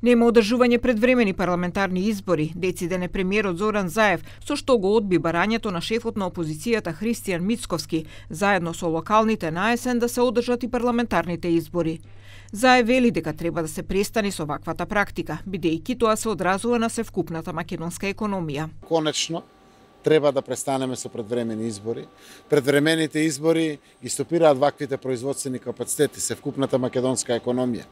Нема одржување предвремени парламентарни избори, дециден е премиерот Зоран Заев, со што го одби барањето на шефот на опозицијата Христијан Мицковски, заедно со локалните на есен да се одржат и парламентарните избори. Заев вели дека треба да се престане со ваквата практика, бидејќи тоа се одразува на севкупната македонска економија. Конечно, треба да престанеме со предвремени избори. Предвремените избори ги стопираат ваквите производствени капацитети, севкупната македонска економија.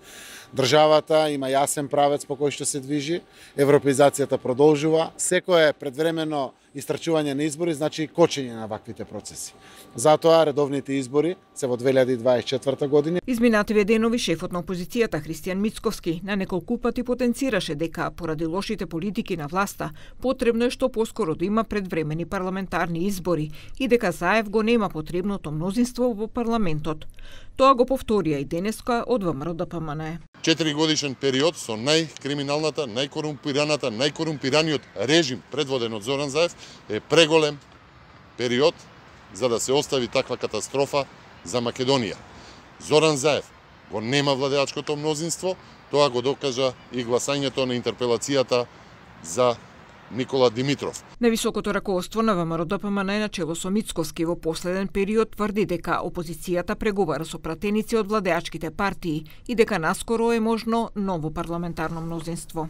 Државата има јасен правец по кој што се движи, европеизацијата продолжува. Секое предвремено истрчување на избори значи кочење на ваквите процеси. Затоа редовните избори се во 2024 година. Изминативе денови шефот на опозицијата Христијан Мицковски на неколку пати потенцираше дека поради лошите политики на власта потребно е што поскоро да има предвремени парламентарни избори и дека Заев го нема потребното мнозинство во парламентот. Тоа го повторија и денеска од ВМРО-ДПМН. 4-годишен период со најкриминалната, најкорумпираната, најкорумпираниот режим предводен од Зоран Заев е преголем период за да се остави таква катастрофа за Македонија. Зоран Заев го нема владеачкото мнозинство, тоа го докажа и гласањето на интерпелацијата за Никола Димитров. Највисокото раководство на ВМРО-ДПМН начело со Мицковски во последен период тврди дека опозицијата преговара со пратеници од владеачките партии и дека наскоро е можно ново парламентарно мнозинство.